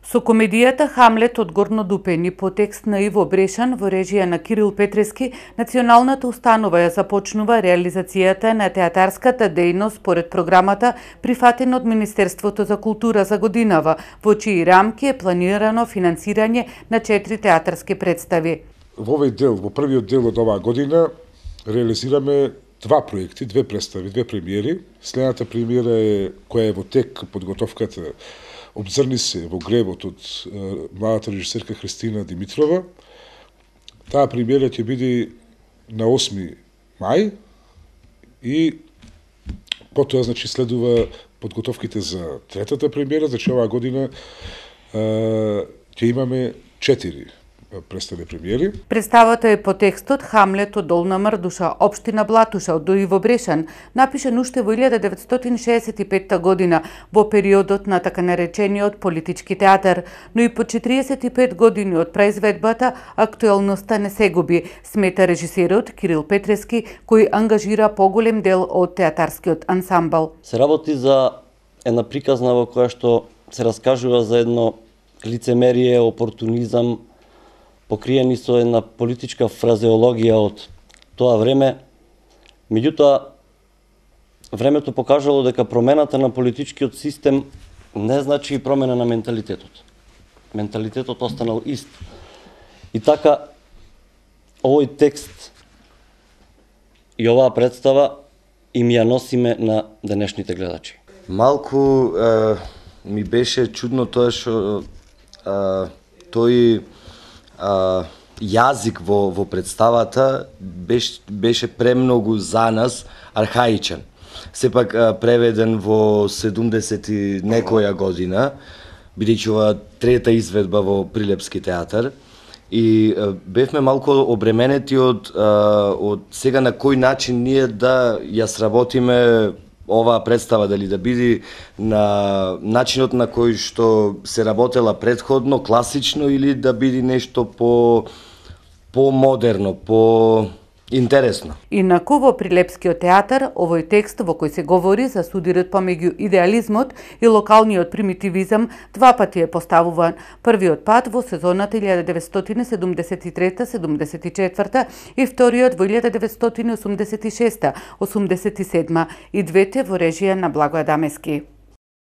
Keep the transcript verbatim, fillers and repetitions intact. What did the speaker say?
Со комедијата Хамлет од Горно Дупен и по текст на Иво Брешан во режија на Кирил Петрески, Националната установа ја започнува реализацијата на театарската дејност според програмата прифатена од Министерството за култура за годинава, во чии рамки е планирано финансирање на четири театарски представи. Во овој дел, во првиот дел од оваа година, реализираме два проекти, две представи, две премиери. Следната премиера е која е во тек подготовката Обзрни се во гревот од е, младата режисерка Христина Димитрова. Таа премиера ќе биде на осми мај и потоа значи следува подготовките за третата премиера, значи оваа година е, ќе имаме четири представи премиери. Представата е по текстот Хамлет од Долна Мрдуша, општина Блатуша од Иво Брешан, напишан уште во илјада деветстотини шеесет и петта година, во периодот на така наречениот политички театар, но и по четириесет и пет години од произведбата актуелноста не се губи, смета режисерот Кирил Петрески, кој ангажира поголем дел од театарскиот ансамбл. Се работи за една приказна во која што се раскажува за едно лицемерие, опортунизам, покриени со една политичка фразеологија од тоа време. Меѓутоа, времето покажало дека промената на политичкиот систем не значи и промена на менталитетот. Менталитетот останал ист. И така, овој текст и оваа представа им ја носиме на денешните гледачи. Малку е, ми беше чудно тоа што е, тој Uh, јазик во, во представата беше, беше премногу за нас архаичен. Сепак uh, преведен во седумдесет и некоја година, бидејќи ова трета изведба во Прилепски театар, и uh, бевме малку обременети од, uh, од сега на кој начин ние да ја сработиме оваа представа, дали да биде на начинот на кој што се работела претходно, класично, или да биде нешто по по-модерно, по интересно. Инаку во Прилепскиот театар, овој текст во кој се говори за судирот помеѓу идеализмот и локалниот примитивизам два пати е поставуван. Првиот пат во сезоната илјада деветстотини седумдесет и трета седумдесет и четврта и вториот во илјада деветстотини осумдесет и шеста осумдесет и седма и двете во режија на Благој Адамески.